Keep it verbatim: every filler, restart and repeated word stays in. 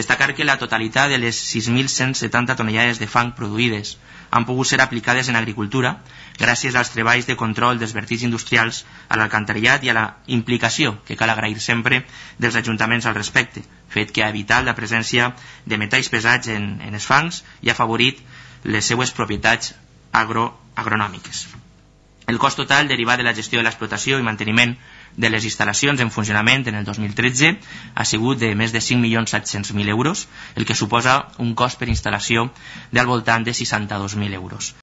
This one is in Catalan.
Destacar que la totalitat de les sis mil cent setanta tonellades de fang produïdes han pogut ser aplicades en agricultura gràcies als treballs de control dels vertics industrials, a l'alcantarillat i a la implicació, que cal agrair sempre, dels ajuntaments al respecte, fet que ha evitat la presència de metalls pesats en, en els fangs i ha afavorit les seues propietats agro, agronòmiques. El cost total derivat de la gestió de l'explotació i manteniment de les instal·lacions en funcionament en el dos mil tretze ha sigut de més de cinc milions set-cents mil euros, el que suposa un cost per instal·lació del voltant de seixanta-dos mil euros.